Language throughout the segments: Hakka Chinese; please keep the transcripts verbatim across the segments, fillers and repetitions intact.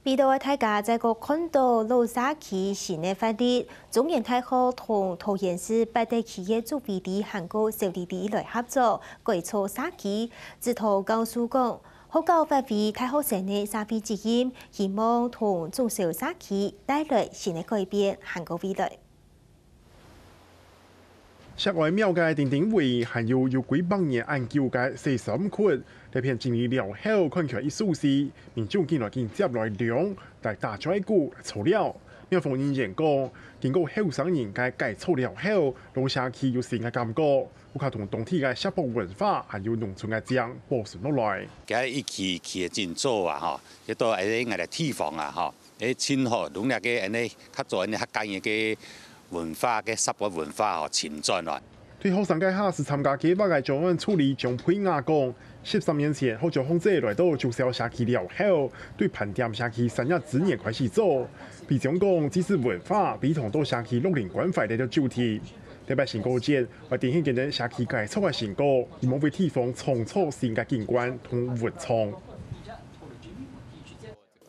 為著大家再過看著老社區新个活力，中原大學同桃園市八德區个竹圍里還過小里里來合作，改造社區。指導教授講，學校發揮大學生个社會責任，希望同中小社區帶來新个改變還過未來。 石哀廟个亭亭圍，還有有幾百年恁久个洗衫窟，這片整理了後，看起來已舒適。民眾緊來緊接來量，來打嘴鼓、來坐尞。廟方人員講，經過後生人个改造了後，老社區有新个感覺，屋下同當地个社博文化，還有農村个靚保存落來。今日一期一期个整做啊，吼，這都係𠊎个地方啊，吼。 誒，盡好，用這个恁呢較早恁呢客家人个文化个社會文化吼，尋轉來。對後生該下係參加計畫个張安助理張佩雅講，十三年前，好像紅姐來到竹消社區了後，對盤點社區產業資源開始做。比將講，祭祀文化，比同到社區六零關懷个主題。特別成果展，會展現今日社區改造个成果，希望為地方創造新个景觀同文創。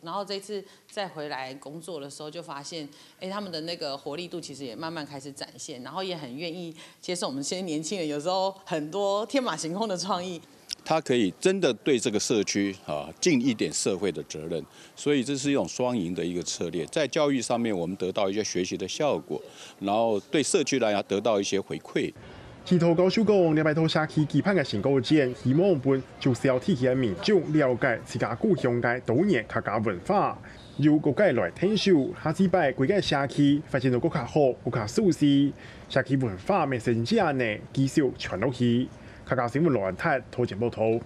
然后这次再回来工作的时候，就发现，哎，他们的那个活力度其实也慢慢开始展现，然后也很愿意接受我们这些年轻人有时候很多天马行空的创意。他可以真的对这个社区啊尽一点社会的责任，所以这是一种双赢的一个策略。在教育上面，我们得到一些学习的效果，然后对社区来讲得到一些回馈。指导教授講，這擺到社區舉辦个成果展，希望分竹消地區个民眾了解自家故鄉个多元客家文化。由各界來𢯭手，下次擺歸个社區發展到更加好、更加舒適，社區文化乜承接恁呢繼續傳落去。客家新聞羅安泰，桃園報導。